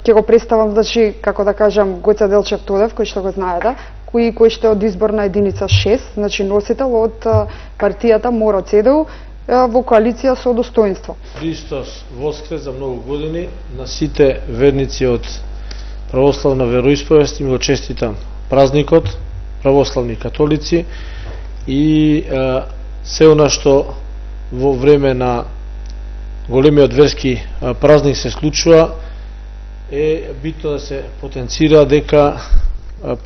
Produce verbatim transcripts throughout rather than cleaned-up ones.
ќе го представам, значи, како да кажам, Гоце Делчев Тодев, кој што го знаете, кој кој што е од изборна единица шест, значи носител од партијата Моро ЦДУ во коалиција со достоинство. Христос воскрес за многу години, на сите верници од православна вероисповест им го честитам празникот, православни католици, и е, се она што во време на големиот верски празник се случува, е битно да се потенцира дека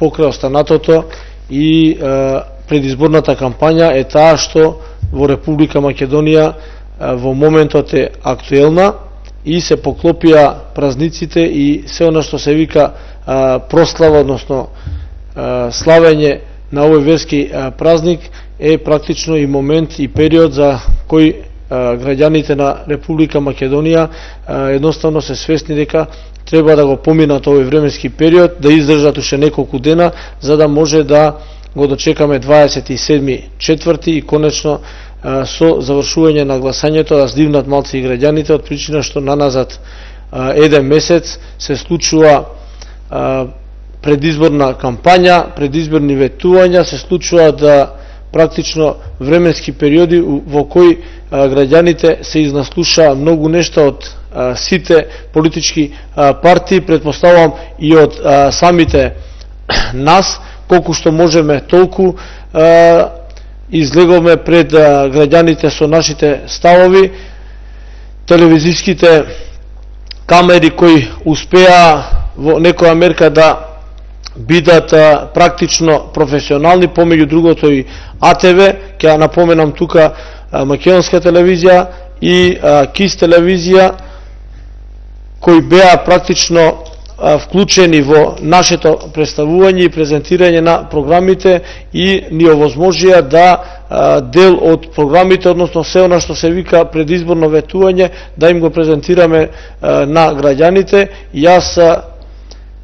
покрај останатото и е, предизборната кампања е таа што во Република Македонија во моментот е актуелна и се поклопија празниците и се она што се вика прослава, односно славење на овој верски празник е практично и момент и период за кој граѓаните на Република Македонија едноставно се свесни дека треба да го поминат овој временски период, да издржат уште неколку дена, за да може да го дочекаме дваесет и седми четврти и конечно со завршување на гласањето да здивнат малци и граѓаните, од причина што наназад еден месец се случува предизборна кампања, предизборни ветувања, се случува да практично временски периоди во кои граѓаните се изнаслуша многу нешта од сите политички партии, предпоставувам и од самите нас, колку што можеме толку излеговме пред граѓаните со нашите ставови. Телевизиските камери кои успеа во некоја мерка да бидат практично професионални, помеѓу другото и А Т В, ќе напоменам тука Македонска телевизија и КИС телевизија, кои беа практично вклучени во нашето представување и презентирање на програмите и ни овозможија да дел од програмите, односно се она што се вика предизборно ветување, да им го презентираме на граѓаните. Јас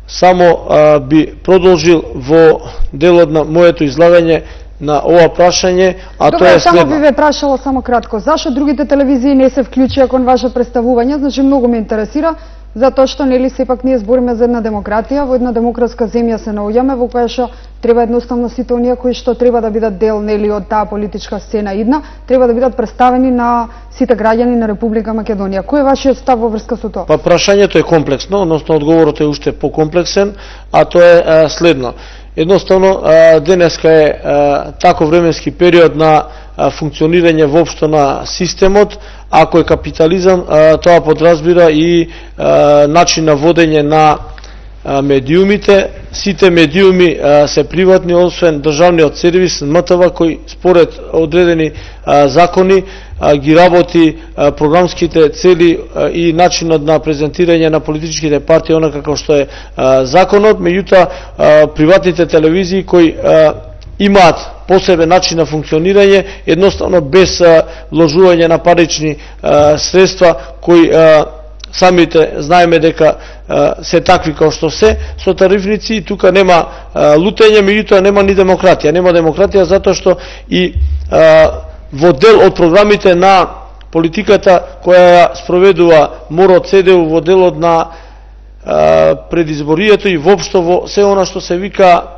само би продолжил во делот на моето излагање на ова прашање, а Добре, тоа е само следно. би ве прашала само кратко, зашо другите телевизии не се вклучија кон ваше представување? Значи многу ме интересира, затоа што нели сепак ние збориме за една демократија, во една демократска земја се наоѓаме, во која што треба едноставно сите оние кои што треба да бидат дел нели од таа политичка сцена идна, треба да бидат представени на сите граѓани на Република Македонија. Кој е вашиот став во врска со тоа? Па прашањето е комплексно, односно одговорот е уште покомплексен, а тоа е а, следно. Едноставно, а, денеска е а, тако временски период на а, функционирање воопшто на системот. Ако е капитализам, а, тоа подразбира и а, начин на водење на а, медиумите. Сите медиуми а, се приватни, освен државниот сервис М Т В, кој според одредени а, закони а, ги работи а, програмските цели а, и начинот на презентирање на политичките партии, онака како што е а, законот. Меѓутоа, а, приватните телевизии кои а, имаат посебен начин на функционирање, едноставно без а, вложување на парични а, средства кои а, самите знаеме дека а, се такви како што се, со тарифници, и тука нема а, лутење, меѓутоа нема ни демократија. Нема демократија затоа што и а, во дел од програмите на политиката која ја спроведува Моро ЦДУ во делот на а, предизборието и воопшто во се она што се вика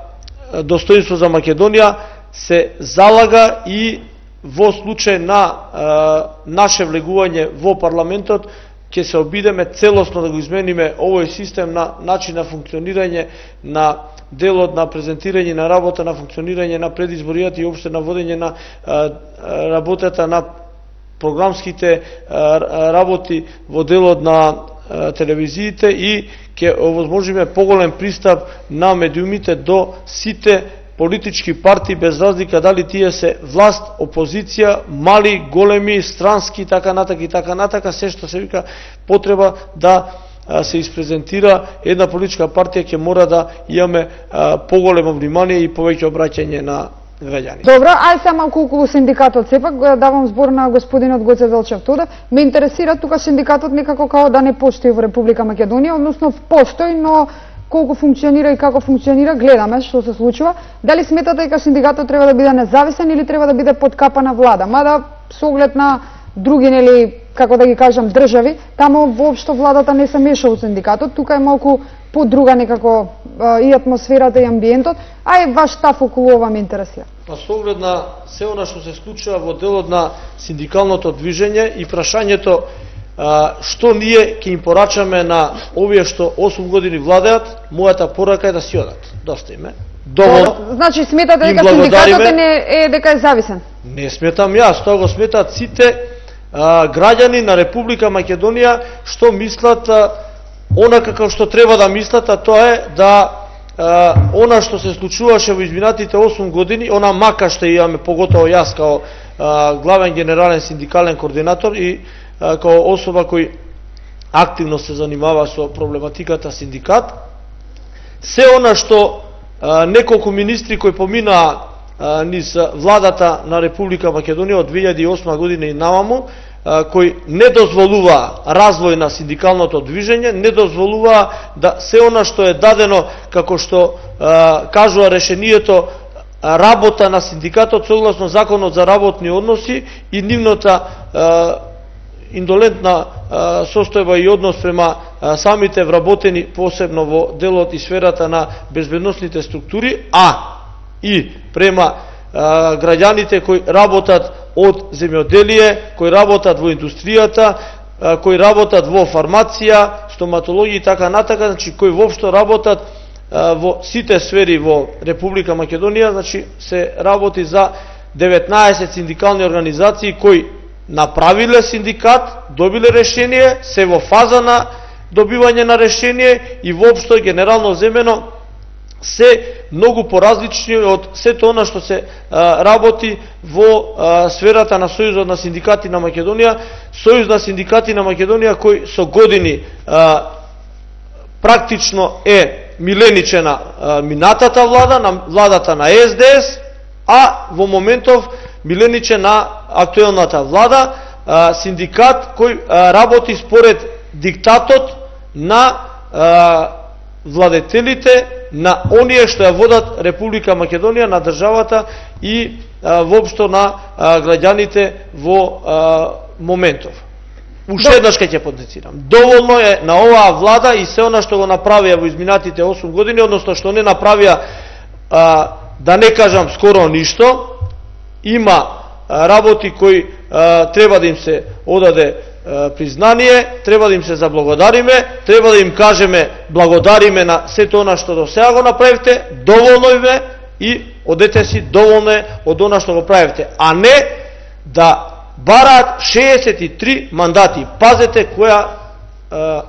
достоинство за Македонија, се залага и во случај на а, наше влегување во парламентот ќе се обидеме целосно да го измениме овој систем на начин на функционирање на делот на презентирање на работа, на функционирање на предизборијата и опште на водење на а, работата на програмските а, работи во делот на а, телевизиите, и ќе овозможиме поголем пристап на медиумите до сите политички партии, без разлика дали тие се власт, опозиција, мали, големи, странски, така натака и така натака, се што се вика потреба да се испрезентира една политичка партија, ќе мора да имаме поголемо внимание и повеќе обраќање на граѓани. Добро, ај се малку околу синдикатот, сепак давам збор на господинот Гоце Делчев Тодев. Ме интересира тука синдикатот некако као да не постои во Република Македонија, односно постои, но колку функционира и како функционира, гледаме што се случува. Дали сметате дека синдикатот треба да биде независен или треба да биде под капа на влада? Мада со оглед на други, нели, како да ги кажам, држави, тамо воопшто владата не се меша во синдикатот, тука е малку подруга некако и атмосферата и амбиентот, а и ваш став околу ова ме интересира. Па со оглед на се она што се случува во делот на синдикалното движење и прашањето што ние ќе им порачаме на овие што осум години владеат, мојата порака е да си одат. Доста име. Доволно. Значи сметате дека синдикатот е, не, е дека е зависен? Не сметам јас, тоа го сметат сите а, граѓани на Република Македонија што мислат а, она како што треба да мислат, а тоа е да а, она што се случуваше во изминатите осум години, она мака што имаме, поготово јас као а, главен генерален синдикален координатор и а, као особа кој активно се занимава со проблематиката синдикат, се она што а, неколку министри кои поминаа низ владата на Република Македонија од две илјади и осма година и наваму, кој не дозволува развој на синдикалното движење, не дозволува да се она што е дадено, како што а, кажува решението, работа на синдикатот согласно Законот за работни односи и нивната а, индолентна а, состојба и однос према а, самите вработени, посебно во делот и сферата на безбедносните структури, а и према а, граѓаните кои работат од земјоделие, кои работат во индустријата, а, кои работат во фармација, стоматологија и така натака, значи кои воопшто работат а, во сите сфери во Република Македонија, значи се работи за деветнаесет синдикални организации кои направиле синдикат, добиле решение, се во фаза на добивање на решение и воопшто генерално земено се многу поразлични од сето она што се а, работи во а, сферата на Сојузот на синдикати на Македонија, Сојуз на синдикати на Македонија кој со години а, практично е милениче на а, минатата влада, на владата на Ес Де Ес, а во моментов милениче на актуелната влада, а, синдикат кој а, работи според диктатот на а, владетелите, на оние што ја водат Република Македонија, на државата и а, воопшто на а, граѓаните во а, моментов. Уште еднаш ќе ќе потенцирам. Доволно е на оваа влада и се она што го направија во изминатите осум години, односно што не направија, а, да не кажам скоро ништо. Има а, работи кои а, треба да им се одаде признание, треба да им се заблагодариме, треба да им кажеме благодариме на сето она што до сега го направивте, доволно име и одете си, доволно е од она што го правивте, а не да бараат шеесет и три мандати. Пазете која е,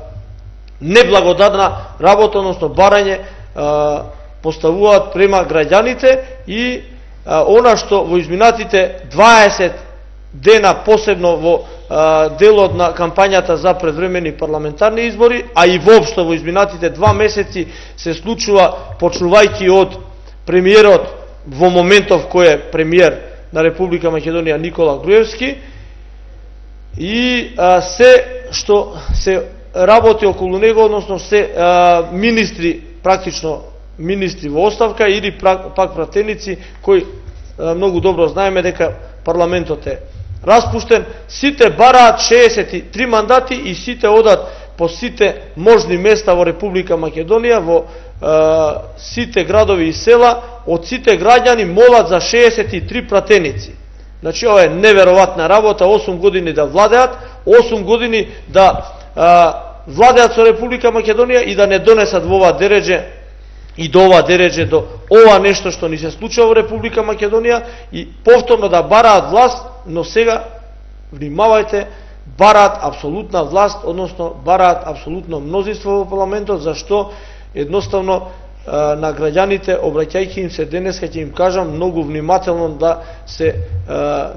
неблагодарна работа, односно барање е, поставуваат према граѓаните и е, она што во изминатите дваесет дена, посебно во а, делот на кампањата за предвремени парламентарни избори, а и воопшто во изминатите два месеци се случува, почнувајќи од премиерот во моментов кој е премиер на Република Македонија Никола Груевски, и а, се што се работи околу него, односно се а, министри, практично министри во оставка или пак пратеници кои а, многу добро знаеме дека парламентот е распуштен, сите бараат шеесет и три мандати и сите одат по сите можни места во Република Македонија, во е, сите градови и села, од сите граѓани молат за шеесет и три пратеници. Значи, ова е неверојатна работа, осум години да владеат, осум години да е, владеат со Република Македонија и да не донесат во ова дередже и до ова дередже, до ова нешто што ни се случува во Република Македонија и повторно да бараат власт, но сега, внимавајте, бараат апсолутна власт, односно бараат апсолутно мнозинство во парламентот, зашто едноставно на граѓаните, обраќајќи им се денеска, ќе им кажам многу внимателно да се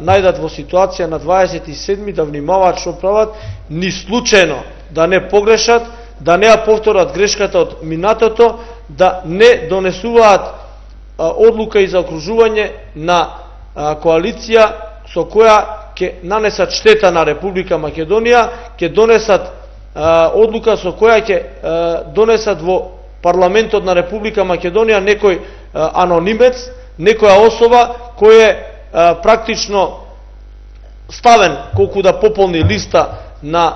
најдат во ситуација на дваесет и седми, да внимаваат што прават, ни случајно да не погрешат, да не ја повторат грешката од минатото, да не донесуваат одлука и заокружување на коалиција со која ќе нанесат штета на Република Македонија, ќе донесат а, одлука со која ќе а, донесат во парламентот на Република Македонија некој а, анонимец, некоја особа кој е а, практично ставен колку да пополни листа на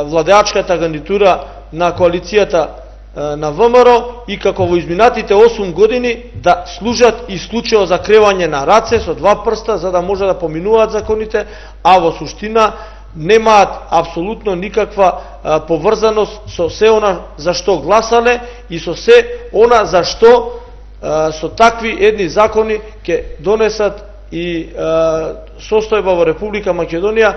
владеачката гарнитура на коалицијата на ВМРО и како во изминатите осум години да служат исклучиво за кревање на раце со два прста за да може да поминуваат законите, а во суштина немаат апсолутно никаква а, поврзаност со се она за што гласале и со се она за што а, со такви едни закони ќе донесат и а, состојба во Република Македонија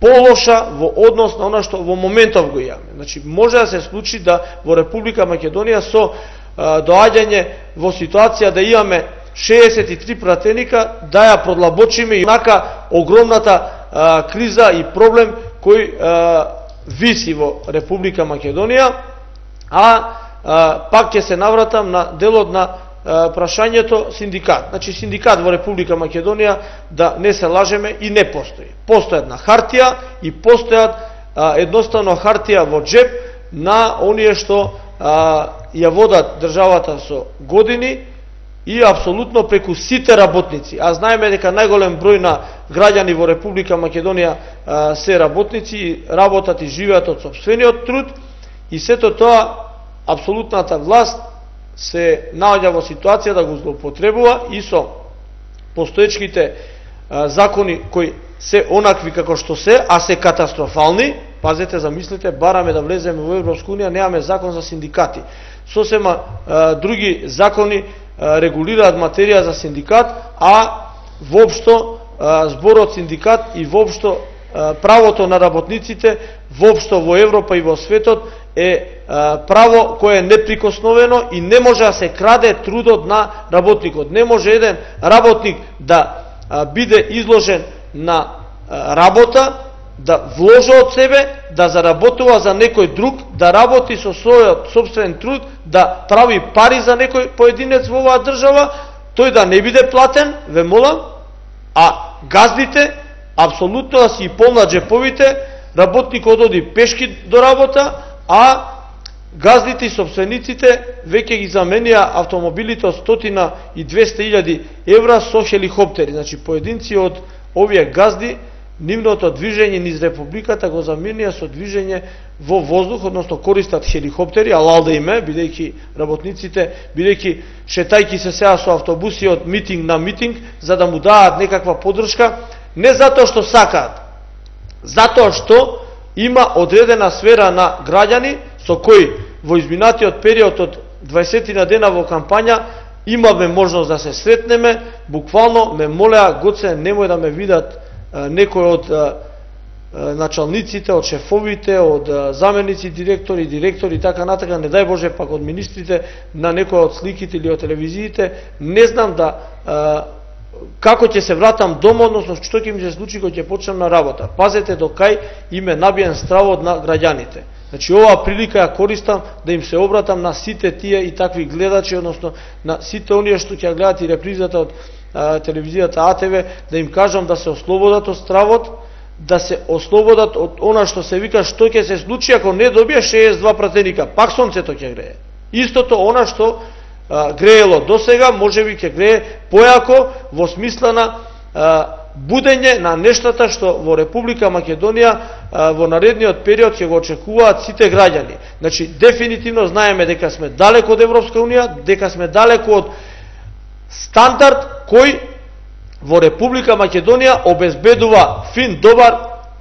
полоша во однос на она што во моментов го имаме. Значи, може да се случи да во Република Македонија со а, доаѓање во ситуација да имаме шеесет и три пратеника, да ја продлабочиме и онака огромната а, криза и проблем кој а, виси во Република Македонија, а, а пак ќе се навратам на делот на прашањето синдикат. Значи, синдикат во Република Македонија, да не се лажеме, и не постои. Постојат на хартија и постојат а, едноставно хартија во джеб на оние што а, ја водат државата со години и апсолутно преку сите работници. А знаеме дека најголем број на граѓани во Република Македонија а, се работници и работат и живеат од сопствениот труд, и сето тоа апсолутната власт се наоѓа во ситуација да го злоупотребува и со постоечките а, закони кои се онакви како што се, а се катастрофални. Пазете, замислете, бараме да влеземе во Европска унија, немаме закон за синдикати. Сосема а, други закони а, регулираат материја за синдикат, а воопшто а, зборот синдикат и воопшто а, правото на работниците воопшто во Европа и во светот е право кое е неприкосновено и не може да се краде трудот на работникот. Не може еден работник да биде изложен на работа, да вложи од себе, да заработува за некој друг, да работи со својот собствен труд, да прави пари за некој поединец во оваа држава, тој да не биде платен, ве молам, а газдите апсолутно да си полнат джеповите, работникот оди пешки до работа, а газдите и собствениците веќе ги заменија автомобилите од сто и двесте илјади евра со хеликоптери. Значи, поединци од овие газди, нивното движење низ републиката го заменија со движење во воздух, односно користат хеликоптери, алал да име, бидејќи работниците, бидејќи шетајки се сега со автобуси од митинг на митинг, за да му даат некаква поддршка, не затоа што сакаат, затоа што има одредена сфера на граѓани со кои во изминатиот период од дваесет дена во кампања имаме можност да се сретнеме. Буквално ме молеа: Гоце, немој да ме видат некој од а, началниците, од шефовите, од заменици директори, директори и така натака, не дај Боже пак од министрите, на некој од сликите или од телевизиите. Не знам да а, како ќе се вратам дома, односно што ќе ми се случи кога ќе почнам на работа. Пазете до кај им е набиен стравот на граѓаните. Значи, оваа прилика ја користам да им се обратам на сите тие и такви гледачи, односно на сите оние што ќе гледат и репризата од а, телевизијата А Т В, да им кажам да се ослободат од стравот, да се ослободат од она што се вика што ќе се случи ако не добие шеесет и два пратеника. Пак сонцето ќе грее. Истото она што а, греело досега, можеби ќе грее појако во смисла на а, будење на нештата што во Република Македонија а, во наредниот период ќе го очекуваат сите граѓани. Значи, дефинитивно знаеме дека сме далеко од Европска унија, дека сме далеко од стандард кој во Република Македонија обезбедува фин, добар,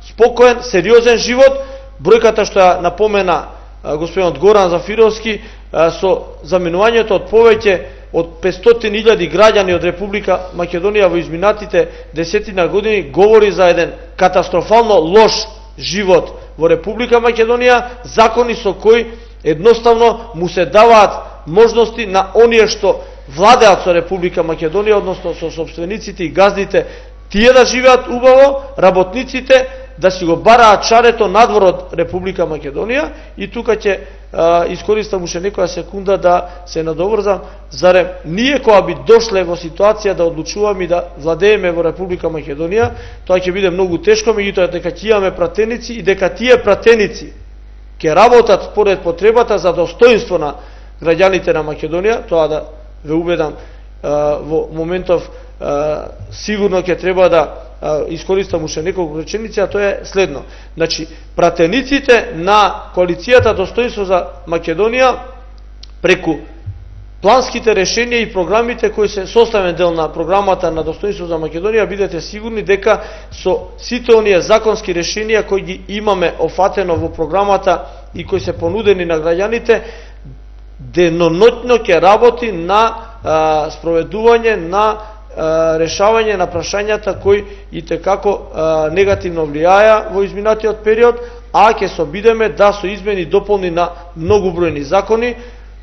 спокоен, сериозен живот. Бројката што ја напомена а, господинот Горан Зафировски, а, со заменувањето од повеќе од петстотини илјади граѓани од Република Македонија во изминатите десетина години, говори за еден катастрофално лош живот во Република Македонија, закони со кои едноставно му се даваат можности на оние што владеат со Република Македонија, односно со собствениците и газдите, тие да живеат убаво, работниците да си го бараат чарето надвор од Република Македонија. И тука ќе искористам уште некоја секунда да се надоврзам, зарем ние кога би дошле во ситуација да одлучуваме и да владееме во Република Македонија, тоа ќе биде многу тешко, меѓутоа дека ќе имаме пратеници и дека тие пратеници ќе работат според потребата за достоинство на граѓаните на Македонија. Тоа да ве убедам, во моментов сигурно ќе треба да искористам уште неколку реченици, а тоа е следно. Значи, пратениците на коалицијата Достоинство за Македонија преку планските решенија и програмите кои се составен дел на програмата на Достоинство за Македонија, бидете сигурни дека со сите оние законски решенија кои ги имаме офатено во програмата и кои се понудени на граѓаните, деноноќно ќе работи на а, спроведување на а, решавање на прашањата кои и текако а, негативно влијаја во изминатиот период, а ќе се обидеме да со измени и дополни на многу бројни закони,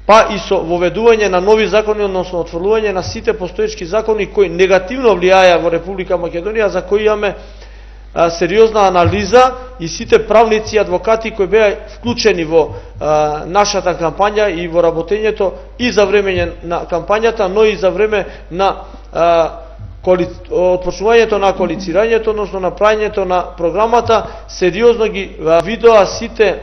па и со воведување на нови закони, односно отфрлување на сите постоечки закони кои негативно влијаја во Република Македонија, за кои имаме а, сериозна анализа и сите правници и адвокати кои беа вклучени во а, нашата кампања и во работењето и за време на кампањата, но и за време на а, коали... отпочнувањето на коалицирањето, односно на правењето на програмата, сериозно ги а, видоа сите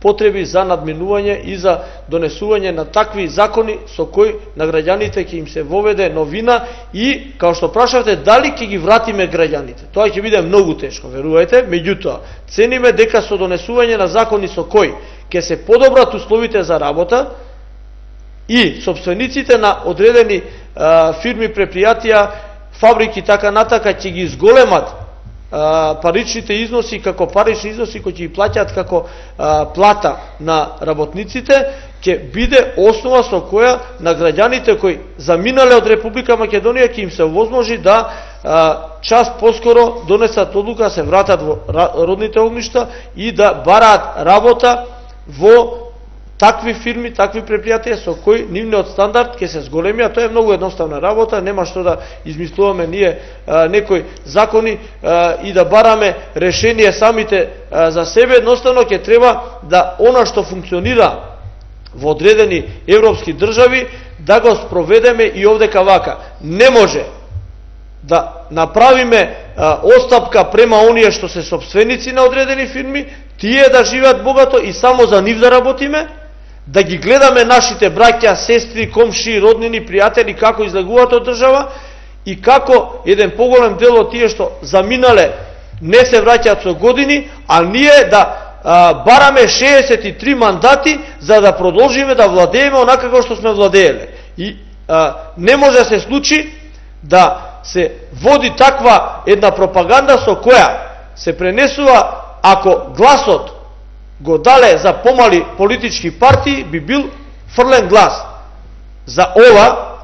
потреби за надминување и за донесување на такви закони со кои на граѓаните ќе им се воведе новина и, као што прашавте, дали ќе ги вратиме граѓаните. Тоа ќе биде многу тешко, верувајте, меѓутоа, цениме дека со донесување на закони со кои ќе се подобрат условите за работа и собствениците на одредени а, фирми, предпријатија, фабрики, така натака, ќе ги изголемат паричните износи како парични износи кои ќе ги плаќаат како а, плата на работниците, ќе биде основа со која на граѓаните кои заминале од Република Македонија ќе им се овозможи да а, час поскоро донесат одлука, се вратат во родните огништа и да бараат работа во такви фирми, такви предпријатија со кои нивниот стандард ќе се зголемија. Тоа е многу едноставна работа, нема што да измислуваме ние а, некои закони а, и да бараме решение самите а, за себе. Едноставно ќе треба да она што функционира во одредени европски држави да го спроведеме и овдека вака. Не може да направиме а, остапка према оние што се собственици на одредени фирми, тие да живеат богато и само за нив да работиме, да ги гледаме нашите браќа, сестри, комши, роднини, пријатели како излегуваат од држава и како еден поголем дел од тие што заминале не се враќаат со години, а ние да а, бараме шеесет и три мандати за да продолжиме да владееме онака како што сме владееле. И а, не може да се случи да се води таква една пропаганда со која се пренесува, ако гласот го дале за помали политички партии, би бил фрлен глас. За ова,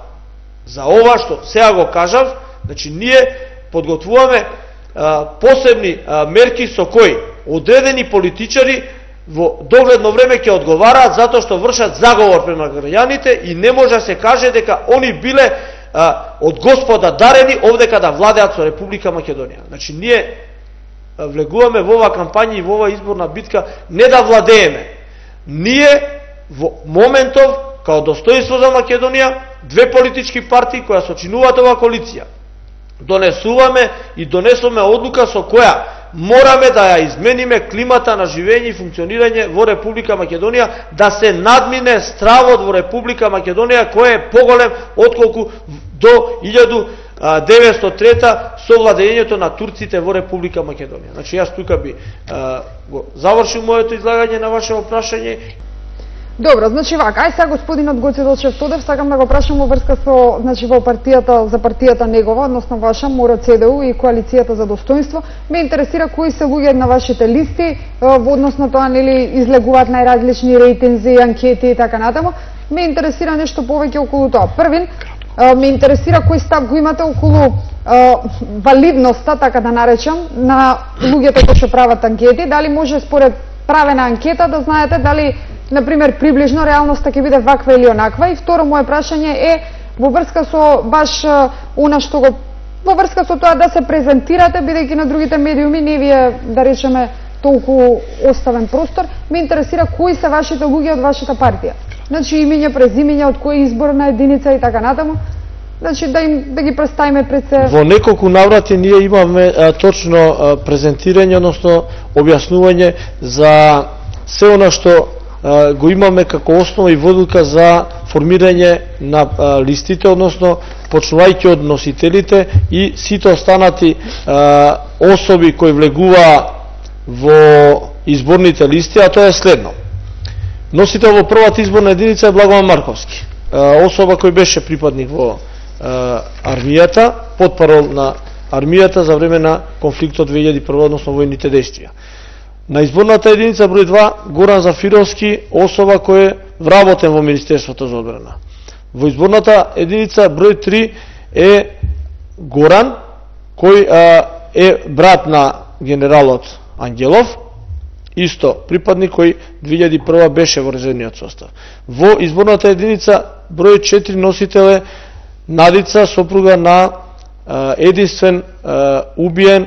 за ова што сега го кажав, значи ние подготвуваме а, посебни а, мерки со кои одредени политичари во догледно време ќе одговараат затоа што вршат заговор према граѓаните и не може да се каже дека они биле а, од Господа дарени овдека да владеат со Република Македонија. Значи ние влегуваме во оваа кампања и во оваа изборна битка не да владееме. Ние во моментов, као Достоинство за Македонија, две политички партии која сочинуваат оваа коалиција, донесуваме и донесуваме одлука со која мораме да ја измениме климата на живење и функционирање во Република Македонија, да се надмине стравот во Република Македонија кој е поголем отколку до илјаду деветстотини и трета со владењето на турците во Република Македонија. Значи јас тука би а, го завршил моето излагање на вашето прашање. Добро, значи вака, ај сега господинот Гоце Делчев Тодев, сакам да го прашам во врска со, значи во партијата, за партијата негова, односно ваша, Моро ЦДУ и коалицијата за достоинство. Ме интересира кои се луѓе на вашите листи, во односно тоа нели излегуваат најразлични рейтинзи, анкети и така натаму. Ме интересира нешто повеќе околу тоа. Првин, ме интересира кој став го имате околу а, валидноста, така да наречам, на луѓето кои што прават анкети, дали може според правена анкета да знаете дали, например, приближно реалноста ќе биде ваква или онаква. И второ моје прашање е во врска со баш она што го во врска со тоа да се презентирате, бидејќи на другите медиуми не ви е, да речеме, толку оставен простор. Ме интересира кои се вашите луѓе од вашата партија. Значи имиња, презимиња, од која изборна единица и така натаму. Значи да им да ги представиме пред се. Во неколку наврати ние имаме а, точно а, презентирање, односно објаснување за се она што а, го имаме како основа и водилка за формирање на а, листите, односно почнувајќи од носителите и сите останати а, особи кои влегуваа во изборните листи, а тоа е следно. Носител во првата изборна единица е Благован Марковски, а, особа кој беше припадник во а, армијата, потпарол на армијата за време на конфликтот две илјади и прва, односно војните действија. На изборната единица број два Горан Зафировски, особа кој е вработен во Министерството за одбрана. Во изборната единица број три е Горан, кој а, е брат на генералот Ангелов, исто припадник кој две илјади и прва беше во резервниот состав. Во изборната единица број четири носител е Надица, сопруга на а, единствен а, убиен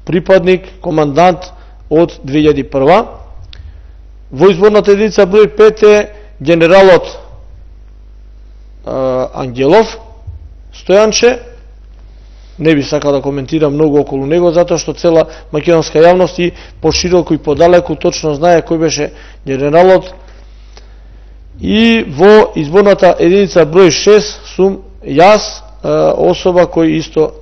припадник, командант од две илјади и прва. Во изборната единица број пет е генералот а, Ангелов Стојанче. Не би сакал да коментирам многу околу него, затоа што цела македонска јавност и пошироко и подалеку точно знае кој беше генералот. И во изборната единица број шест сум јас, особа кој исто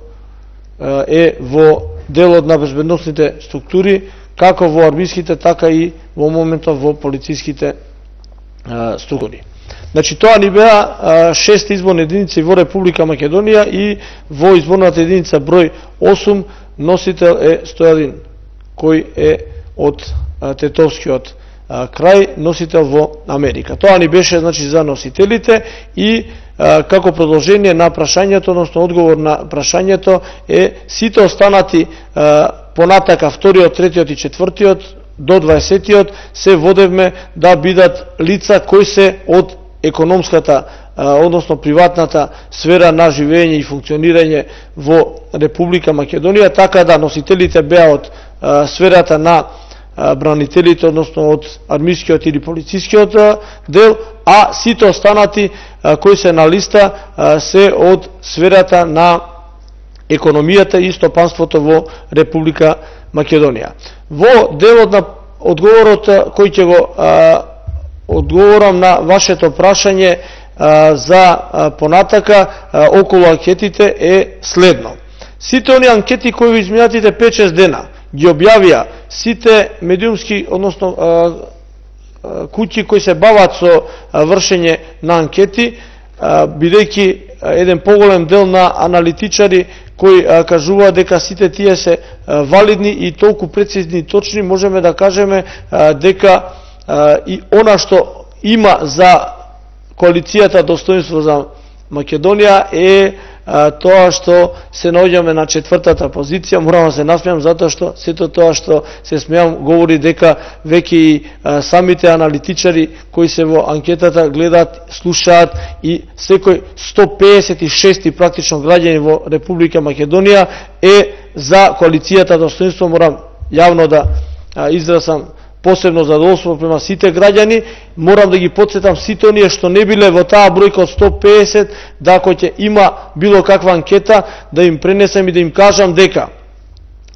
е во делот на безбедносните структури, како во армиските, така и во моментот во полициските структури. Значи, тоа ни беа шест изборни единици во Република Македонија и во изборната единица број осум носител е Стојадин, кој е од Тетовскиот крај, носител во Америка. Тоа ни беше, значи, за носителите и како продолжение на прашањето, односно одговор на прашањето е сите останати понатака вториот, третиот и четвртиот до дваесеттиот се водевме да бидат лица кои се од економската, односно приватната сфера на живење и функционирање во Република Македонија, така да носителите беа од сферата на бранителите, односно од армискиот или полицискиот дел, а сите останати кои се на листа се од сферата на економијата и стопанството во Република Македонија. Во делот на одговорот кој ќе го а, одговорам на вашето прашање а, за а, понатака а, околу анкетите е следно. Сите они анкети кои во изминатите пет-шест дена ги објавија сите медиумски, односно а, а, куќи кои се бават со а, вршење на анкети, а, бидејќи еден поголем дел на аналитичари кои а, кажуваат дека сите тие се а, валидни и толку прецизни и точни, можеме да кажеме а, дека а, и она што има за коалицијата Достоинство за Македонија е а, тоа што се наоѓаме на четвртата позиција. Морам да се насмеам затоа што сето тоа што се смеам говори дека веќе и а, самите аналитичари кои се во анкетата гледаат, слушаат и секој сто пеесет и шести практично граѓани во Република Македонија е за коалицијата Достоинство. Морам јавно да а, изразам посебно задоволство према сите граѓани. Морам да ги потсетам сите оние што не биле во таа бројка од сто пеесет, да ако ќе има било каква анкета, да им пренесем и да им кажам дека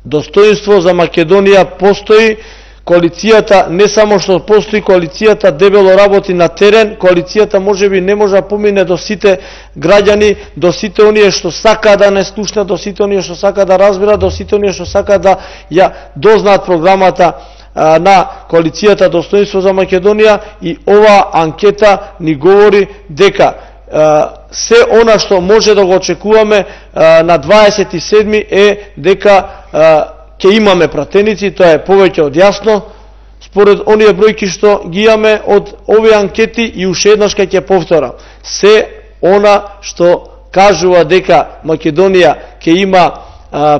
Достоинство за Македонија постои. Коалицијата не само што постои, коалицијата дебело работи на терен, коалицијата можеби не може да помине до сите граѓани, до сите оние што сака да не слушнат, до сите оние што сака да разбират, до сите оние што сака да ја дознаат програмата на коалицијата Достоинство за Македонија, и ова анкета ни говори дека се она што може да го очекуваме на дваесет и седми е дека ќе имаме пратеници. Тоа е повеќе од јасно според оние бројки што ги имаме од овие анкети, и уште еднаш ќе повторам, се она што кажува дека Македонија ќе има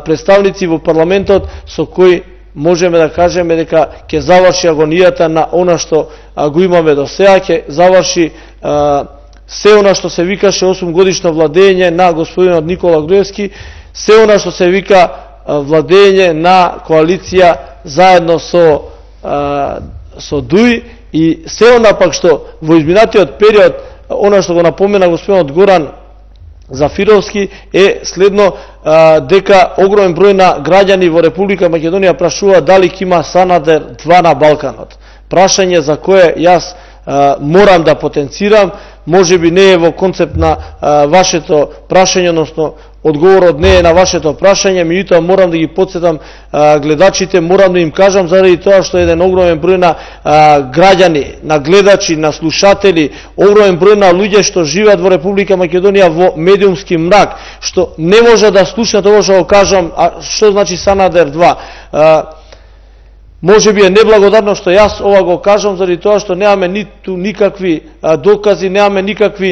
представници во парламентот со кои можеме да кажеме дека ќе заврши агонијата на она што а, го имаме до сега, ќе заврши а, се она што се викаше осум годишно владење на господинот Никола Груевски, се она што се вика а, владење на коалиција заедно со а, со ДУИ, и се она пак што во изминатиот период, она што го напомена господинот Горан Зафировски, е следно а, дека огромен број на граѓани во Република Македонија прашува дали ќе има Санадер два на Балканот. Прашање за кое јас а, морам да потенцирам, можеби не е во концепт на а, вашето прашање, односно одговорот не е на вашето прашање, меѓутоа морам да ги потсетам а, гледачите, морам да им кажам заради тоа што еден огромен број на а, граѓани, на гледачи, на слушатели, огромен број на луѓе што живеат во Република Македонија во медиумски мрак, што не може да слушнат ова што го кажам, а што значи Санадер два. А, Може би е неблагодарно што јас ова го кажам заради тоа што немаме ниту никакви а, докази, немаме никакви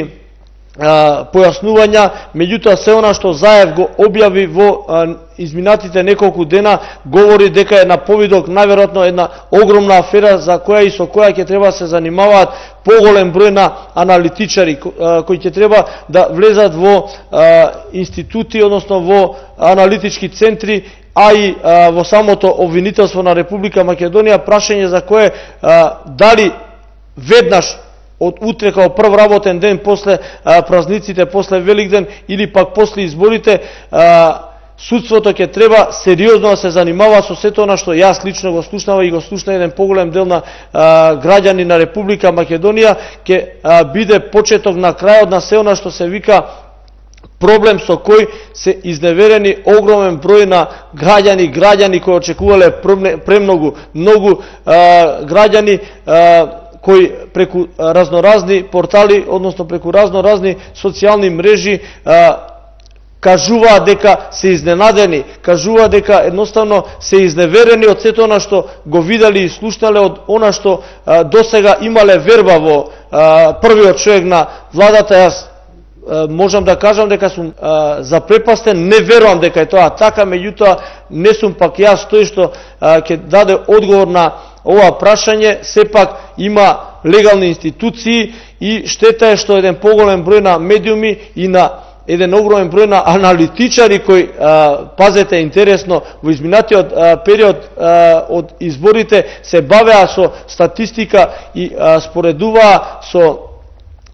а, појаснувања, меѓутоа се она што Заев го објави во а, изминатите неколку дена говори дека е на повидок најверојатно една огромна афера за која и со која ќе треба да се занимаваат поголем број на аналитичари кои ќе треба да влезат во а, институти, односно во аналитички центри, а и а, во самото обвинителство на Република Македонија, прашање за кое а, дали веднаш од утре као прв работен ден после а, празниците, после Великден или пак после изборите, а, судството ќе треба сериозно да се занимава со сето она што јас лично го слушнава и го слушна еден поголем дел на а, граѓани на Република Македонија, ќе а, биде почеток на крајот на се она што се вика проблем со кој се изневерени огромен број на граѓани, граѓани кои очекувале премногу, многу а, граѓани а, кои преку разноразни портали, односно преку разноразни социјални мрежи а, кажуваат дека се изненадени, кажуваат дека едноставно се изневерени од сето она што го видели и слушнале, од она што а, досега имале верба во а, првиот човек на владата. Јас можам да кажам дека сум а, запрепастен, не верувам дека е тоа така, меѓутоа не сум пак јас тој што а, ќе даде одговор на ова прашање. Сепак има легални институции и штета е што еден поголем број на медиуми и на еден огромен број на аналитичари кои, а, пазете интересно, во изминатиот а, период а, од изборите се бавеа со статистика и а, споредуваа со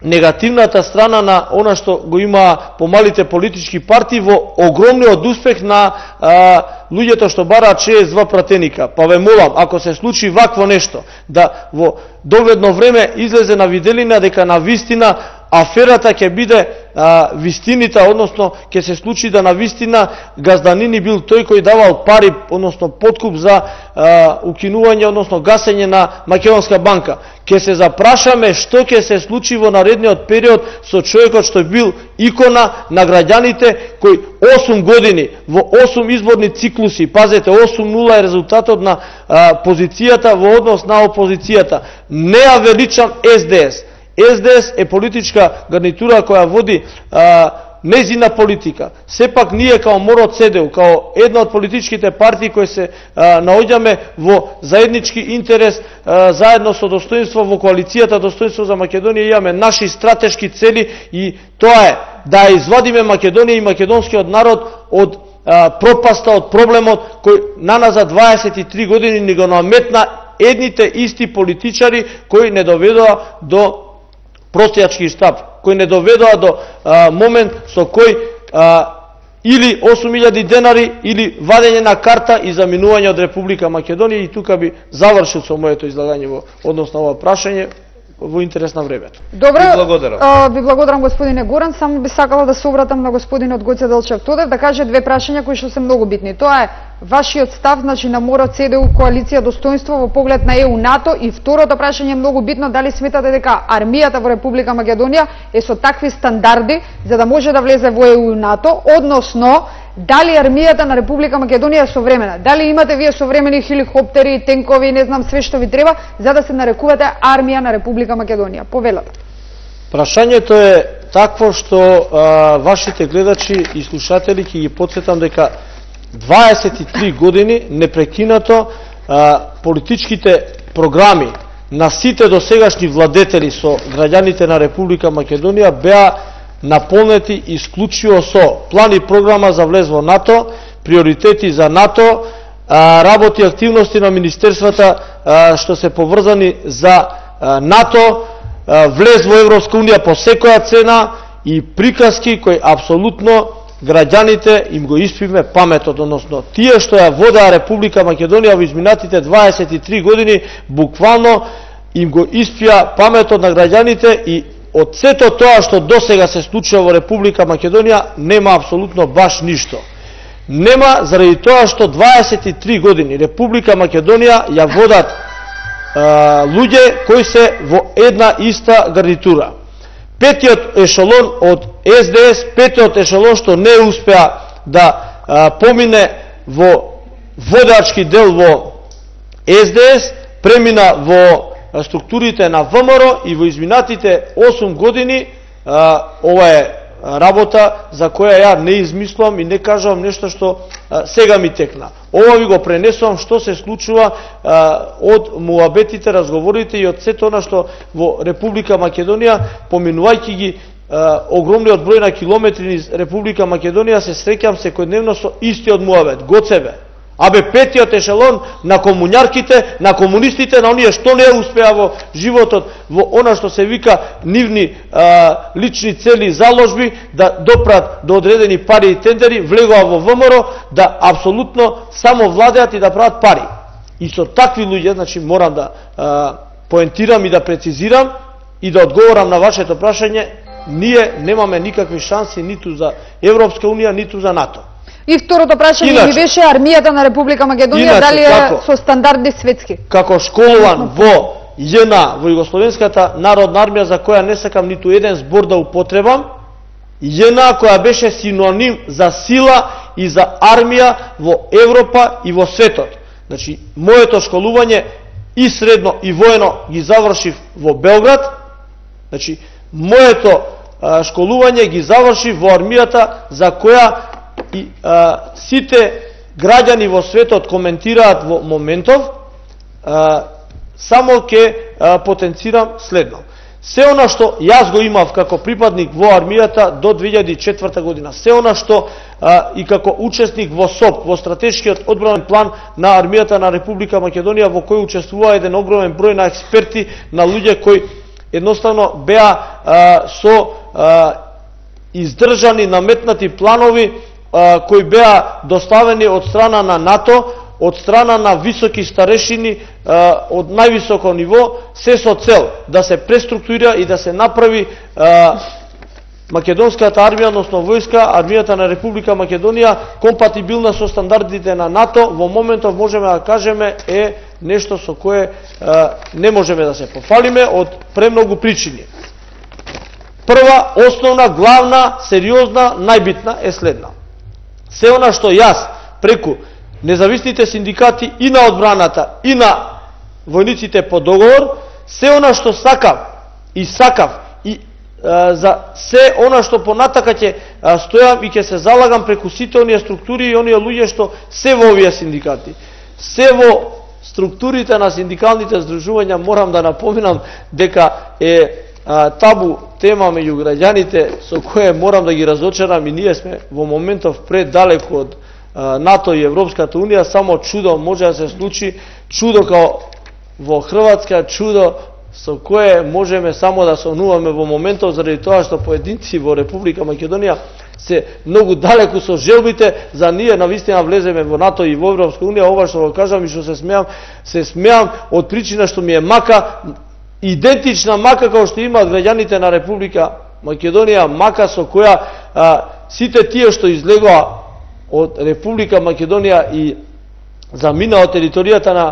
негативната страна на она што го има помалите политички партии во огромниот успех на а, луѓето што бараат шеесет и два пратеника. Па ве молам, ако се случи вакво нешто, да во догледно време излезе на виделина дека на вистина аферата ќе биде а, вистинита, односно ќе се случи да на вистина газданини бил тој кој давал пари, односно подкуп за а, укинување, односно гасење на Македонска банка. Ќе се запрашаме што ќе се случи во наредниот период со човекот што бил икона на граѓаните, кој осум години во осум изборни циклуси, пазете, осум нула е резултатот на а, позицијата во однос на опозицијата. Не ја величам Ес Де Ес. Ес Де Ес е политичка гарнитура која води а, незина политика. Сепак ние као Моро Цедеу, као една од политичките партии кои се а, наоѓаме во заеднички интерес, а, заедно со достоинство во коалицијата Достоинство за Македонија, имаме наши стратешки цели и тоа е да извадиме Македонија и македонскиот народ од а, пропаста, од проблемот кој наназад дваесет и три години ни го наметна едните исти политичари кои не доведоа до простијачки штаб, кои не доведоа до а, момент со кој а, или осум илјади денари или вадење на карта и заминување од Република Македонија. И тука би завршил со моето излагање во однос на ова прашање во интерес на времето. Добро, ви благодарам. А, ви благодарам господине Горан, само би сакала да се обратам на господинот Гоце Делчев Тодев да каже две прашања кои што се многу битни. Тоа е вашиот став, значи на Моро Цедеу коалиција Достоинство во поглед на Е У НАТО, и второто прашање е многу битно, дали сметате дека армијата во Република Македонија е со такви стандарди за да може да влезе во Е У НАТО, односно дали армијата на Република Македонија е современа? Дали имате вие современи хеликоптери, тенкови, не знам све што ви треба за да се нарекувате армија на Република Македонија? Повелете. Прашањето е такво што а, вашите гледачи и слушатели ќе ги потсетам дека дваесет и три години непрекинато а, политичките програми на сите досегашни владетели со граѓаните на Република Македонија беа наполнети исклучиво со план и програма за влез во НАТО, приоритети за НАТО, а, работи и активности на министерствата а, што се поврзани за а, НАТО, а, влез во Европска унија по секоја цена и приказки кои апсолутно граѓаните им го испивме паметот, односно тие што ја водеа Република Македонија во изминатите дваесет и три години буквално им го испија паметот на граѓаните и од сето тоа што досега се случува во Република Македонија нема апсолутно баш ништо. Нема заради тоа што дваесет и три години Република Македонија ја водат а, луѓе кои се во една иста гарнитура. Петиот ешелон од С Д С, петиот ешелон што не успеа да а, помине во водачки дел во С Д С, премина во структурите на В М Р и во изминатите осум години а, ова е работа за која ја не измислувам и не кажувам нешто што а, сега ми текна. Ова ви го пренесувам што се случува а, од муабетите, разговорите и од сето она што во Република Македонија, поминувајќи ги а, огромниот број на километри низ Република Македонија, се среќам секојдневно со истиот муабет, гоцебе. Абе петиот ешелон на комуњарките, на комунистите, на оние што не успеа во животот, во она што се вика нивни а, лични цели заложби, да допрат до одредени пари и тендери, влегоа во В М Р, да апсолутно само владеат и да прават пари. И со такви луѓе, значи морам да а, поентирам и да прецизирам и да одговорам на вашето прашање, ние немаме никакви шанси ниту за Европска унија, ниту за НАТО. И второто прашање Иначе, ми беше армијата на Република Македонија иначе, дали е како, со стандарди светски. Како школуван во Ј Н, во Југословенската народна армија, за која не сакам ниту еден збор да употребам, Ј Н која беше синоним за сила и за армија во Европа и во светот. Значи, моето школување и средно и воено ги завршив во Белград. Значи, моето а, школување ги завршив во армијата за која и а, сите граѓани во светот коментираат во моментов. А, само ќе потенцирам следно. Се она што јас го имав како припадник во армијата до две илјади и четврта година, се она што а, и како учесник во С О П, во стратешкиот одбранен план на армијата на Република Македонија, во кој учествува еден огромен број на експерти, на луѓе кои едноставно беа а, со а, издржани, наметнати планови а, кои беа доставени од страна на НАТО, од страна на високи старешини а, од највисоко ниво, се со цел да се преструктурира и да се направи а, македонската армија, односно војска, армијата на Република Македонија, компатибилна со стандардите на НАТО. Во моментов можеме да кажеме е нешто со кое а, не можеме да се пофалиме од премногу причини. Прва, основна, главна, сериозна, најбитна е следна. Се она што јас преку независните синдикати и на одбраната и на војниците по договор, се она што сакав и сакав и а, за се она што понатака ќе стојам и ќе се залагам преку сите оние структури и оние луѓе што се во овие синдикати, се во структурите на синдикалните здружувања. Морам да напоминам дека е а, табу тема меѓу граѓаните со кое морам да ги разочарам, и ние сме во моментов предалеку од НАТО и Европската унија. Само чудо може да се случи, чудо као во Хрватска, чудо со кое можеме само да сонуваме во моментов, заради тоа што поединци во Република Македонија се многу далеку со желбите за ние навистина влеземе во НАТО и во Европска унија. Ова што го кажам и што се смеам, се смеам од причина што ми е мака, идентична мака како што имаат граѓаните на Република Македонија, мака со која а, сите тие што излегоа од Република Македонија и заминаа од територијата на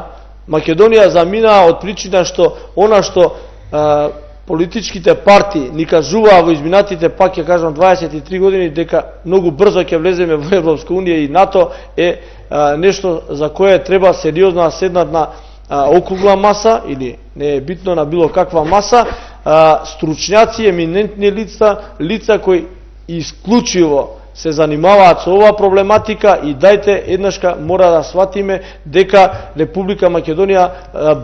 Македонија, заминаа од причина што она што а, политичките партии ни кажуваа во изминатите, пак ќе кажам, дваесет и три години, дека многу брзо ќе влеземе во Европска унија и НАТО, е а, нешто за кое треба сериозно да седнат на а, округла маса, или не е битно на било каква маса, а, стручњаци, еминентни лица, лица кои исклучиво се занимаваат со оваа проблематика. И дајте еднашка мора да сватиме дека Република Македонија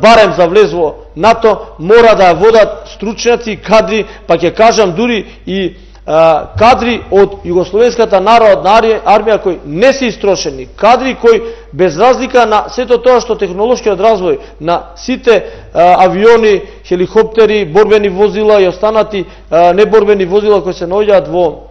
барем за влез во НАТО мора да ја водат стручњаци, кадри, па ќе кажам дури и а, кадри од Југословенската народна армија кои не се истрошени, кадри кои без разлика на сето тоа што технолошкиот развој на сите а, авиони, хеликоптери, борбени возила и останати а, неборбени возила кои се наоѓаат во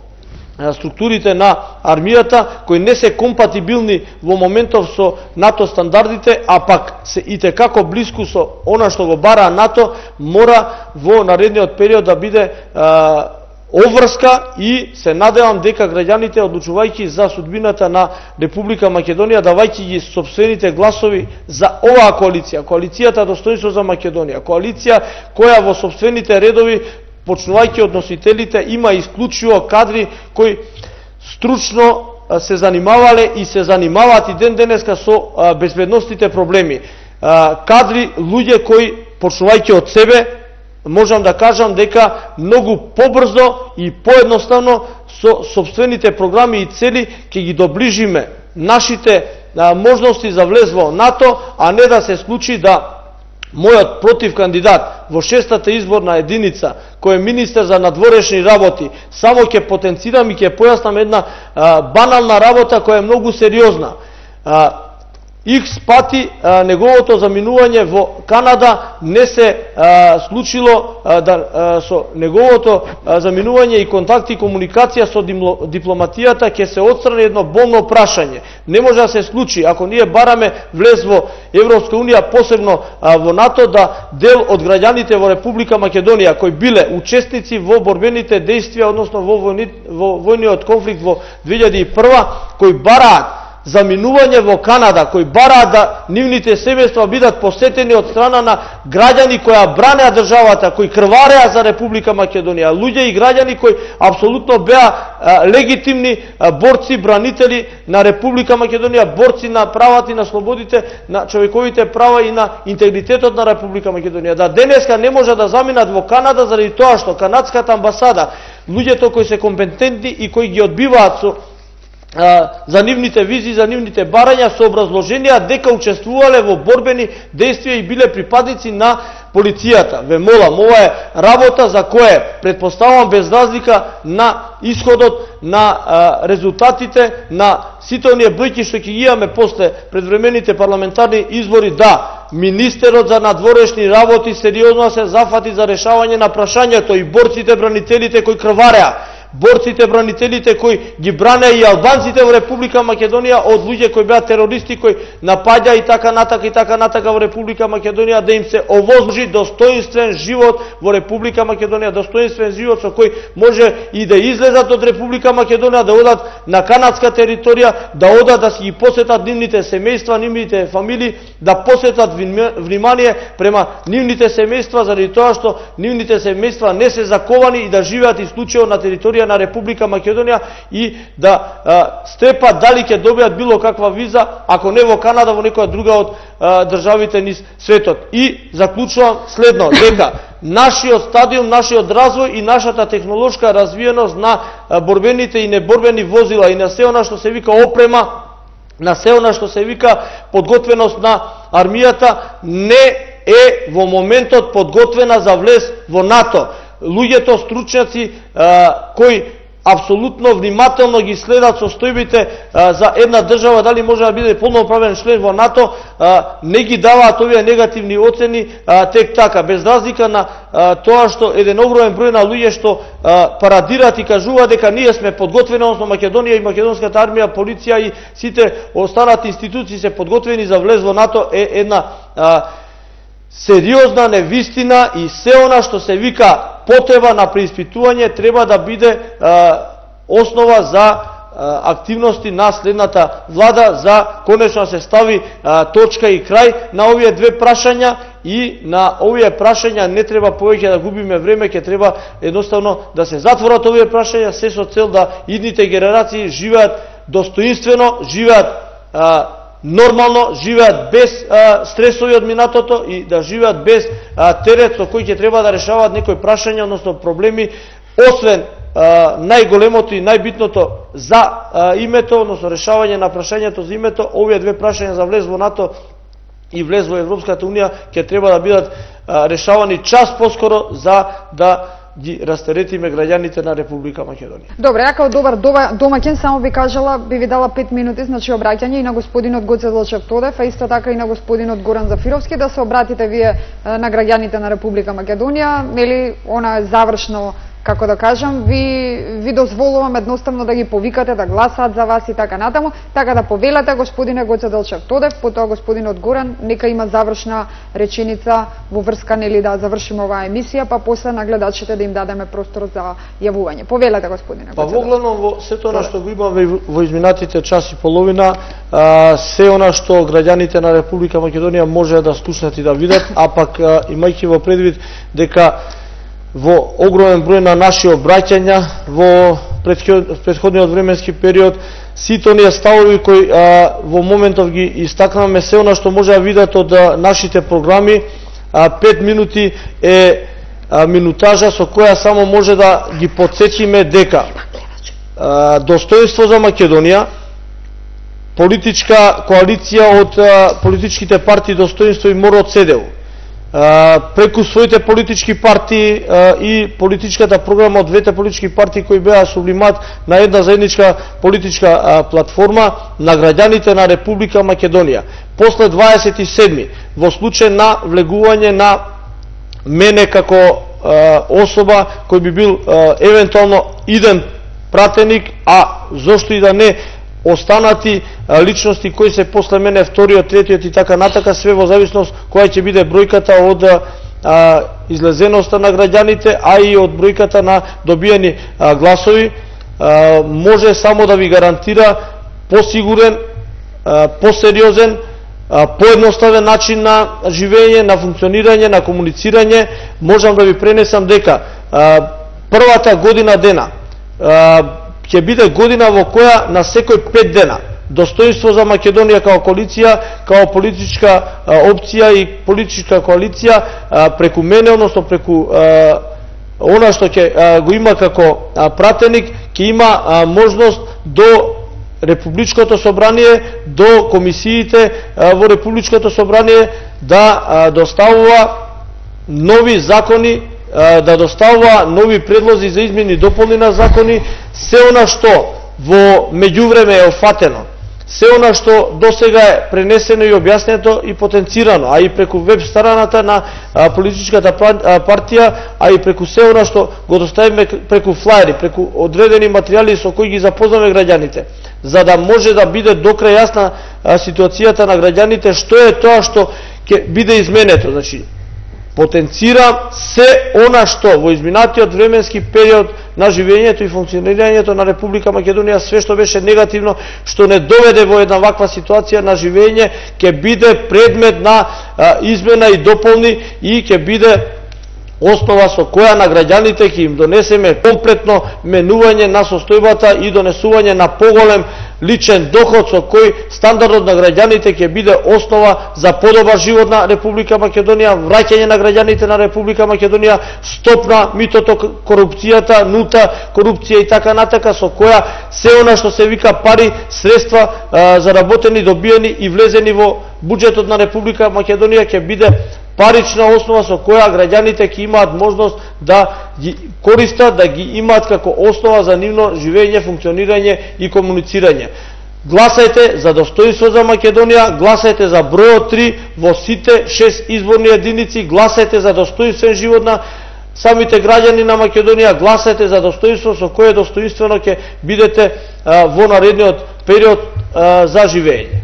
структурите на армијата кои не се компатибилни во моментов со НАТО стандардите, а пак се и како блиску со она што го бара НАТО, мора во наредниот период да биде а, обврска и се надевам дека граѓаните, одлучувајќи за судбината на Република Македонија, давајќи ги собствените гласови за оваа коалиција, коалицијата Достоинство за Македонија, коалиција која во собствените редови, почнувајќи од носителите, има исклучиво кадри кои стручно се занимавале и се занимаваат и ден денеска со безбедностите проблеми. Кадри, луѓе кои, почнувајќи од себе, можам да кажам дека многу побрзо и поедноставно со собствените програми и цели ќе ги доближиме нашите можности за влез во НАТО, а не да се случи да мојот против кандидат во шестата изборна единица, кој е министер за надворешни работи, само ќе потенцирам и ќе појаснам една а, банална работа која е многу сериозна. А, Икс пати а, неговото заминување во Канада не се а, случило а, да, а, со неговото а, заминување и контакти и комуникација со дипломатијата ќе се отстрани едно болно прашање. Не може да се случи, ако ние бараме влез во Европска унија, посебно а, во НАТО, да дел од граѓаните во Република Македонија, кои биле учесници во борбените действија, односно во, војни, во војниот конфликт во две илјади и прва, кои бараат заминување во Канада, кои бараат да нивните семејства бидат посетени од страна на граѓани кои бранеа државата, кои крвареа за Република Македонија, луѓе и граѓани кои апсолутно беа а, легитимни а, борци, бранители на Република Македонија, борци на правата и на слободите, на човековите права и на интегритетот на Република Македонија. Да денеска не може да заминат во Канада заради тоа што канадската амбасада, луѓето кои се компетентни и кои ги одбиваат со за нивните визи, за нивните барања со образложенија дека учествувале во борбени действија и биле припадници на полицијата. Ве молам, ова е работа за која претпоставувам без разлика на исходот, на а, резултатите, на сите оние бројки што ќе ги имаме после предвремените парламентарни избори, да, министерот за надворешни работи сериозно се зафати за решавање на прашањето и борците, бранителите кои крвареа, борците, бранителите кои ги бранеа и албанците во Република Македонија од луѓе кои беа терористи, кои напаѓа и така натака и така натака во Република Македонија, да им се овозможи достоинствен живот во Република Македонија, достоинствен живот со кој може и да излезат од Република Македонија, да одат на канадска територија, да одат да си ги посетат нивните семејства, нивните фамилии, да посетат внимание према нивните семејства, заради тоа што нивните семејства не се заковани и да живеат исклучиво на територија на Република Македонија и да а, степат дали ќе добијат било каква виза, ако не во Канада, во некоја друга од а, државите низ светот. И заклучувам следно, дека нашиот стадиум, нашиот развој и нашата технолошка развиеност на а, борбените и неборбени возила и на се она што се вика опрема, на се она што се вика подготвеност на армијата, не е во моментот подготвена за влез во НАТО. Луѓето стручњаци а, кои апсолутно внимателно ги следат состојбите а, за една држава, дали може да биде полноправен член во НАТО, а, не ги даваат овие негативни оцени а, тек така, без разлика на а, тоа што еден огромен број на луѓе што а, парадираат и кажуваат дека ние сме подготвени, односно Македонија и македонската армија, полиција и сите останати институции се подготвени за влез во НАТО, е една а, сериозна невистина и се она што се вика потреба на преиспитување треба да биде а, основа за а, активности на следната влада, за конечно се стави а, точка и крај на овие две прашања и на овие прашања не треба повеќе да губиме време, ќе треба едноставно да се затворат овие прашања, се со цел да идните генерации живеат достоинствено, живеат а, нормално, живеат без а, стресови од минатото и да живеат без а, терет со кој ќе треба да решаваат некои прашања, односно проблеми, освен а, најголемото и најбитното за а, името, односно решавање на прашањето за името. Овие две прашања за влез во НАТО и влез во Европската унија ќе треба да бидат а, решавани час поскоро за да ги растеретиме граѓаните на Република Македонија. Добре, ја као добар домаќин само би кажала, би ви дала пет минути, значи обраќање и на господинот Гоце Злачев Тодев, а исто така и на господинот Горан Зафировски, да се обратите вие на граѓаните на Република Македонија, нели, она е завршно како да кажам, ви, ви дозволувам едноставно да ги повикате да гласаат за вас и така натаму, така да повелате господине Гоце Делчев Тодев, потоа господинот Горан, нека има завршна реченица во врска, нели, да завршиме оваа емисија, па после на гледачите да им дадеме простор за јавување. Повелете господине Гоце Делчев. Па воглавно во сето она што го имаме во изминатите час и половина, се она што граѓаните на Република Македонија може да слушнат и да видат, а пак имајќи во предвид дека во огромен број на наши обраќања во претходниот временски период, сите оние ставови кои а, во моментов ги истакнаваме, се она што може да видат од а, нашите програми, а, пет минути е а, минутажа со која само може да ги подсетиме дека а, достоинство за Македонија, политичка коалиција од а, политичките партии Достоинство и Мор од СЕДЕУ, преку своите политички партии и политичката програма од двете политички партии кои беа сублимат на една заедничка политичка платформа на граѓаните на Република Македонија. После дваесет и седми, во случај на влегување на мене како особа кој би бил евентуално иден пратеник, а зошто и да не останати личности кои се после мене, вториот, третиот и така натака, све во зависност која ќе биде бројката од а, излезеноста на граѓаните, а и од бројката на добиени а, гласови, а, може само да ви гарантира посигурен, а, посериозен, а, поедноставен начин на живење, на функционирање, на комуницирање. Можам да ви пренесам дека а, првата година дена а, ќе биде година во која на секој пет дена Достоинство за Македонија као коалиција, као политичка а, опција и политичка коалиција а, преку мене, односно преку а, она што ќе го има како а, пратеник, ќе има а, можност до Републичкото собрание, до комисиите а, во Републичкото собрание да а, доставува нови закони, да доставува нови предлози за измени и дополни на закони, се она што во меѓувреме е офатено, се она што досега е пренесено и објаснето и потенцирано, а и преку веб страната на политичката партија, а и преку се она што го доставиме преку флаери, преку одредени материјали со кои ги запознаме граѓаните, за да може да биде докрај јасна ситуацијата на граѓаните, што е тоа што ќе биде изменето. Значи, потенцира се она што во изминатиот временски период на живењето и функционирањето на Република Македонија, све што беше негативно, што не доведе во една ваква ситуација на живење, ќе биде предмет на а, измена и дополни и ќе биде основа со која на граѓаните ќе им донесеме комплетно менување на состојбата и донесување на поголем личен доход со кој стандардот на граѓаните ќе биде основа за подобар живот на Република Македонија, враќање на граѓаните на Република Македонија, стоп на митото, корупцијата, нулта корупција и така натака, со која се она што се вика пари, средства а, заработени, добиени и влезени во буџетот на Република Македонија ќе биде парична основа со која граѓаните ќе имаат можност да ги користат, да ги имаат како основа за нивно живење, функционирање и комуницирање. Гласајте за Достоинство за Македонија, гласајте за бројот три во сите шест изборни единици, гласајте за достоинствен живот на самите граѓани на Македонија, гласајте за достоинство со кое достоинствено ќе бидете а, во наредниот период а, за живење.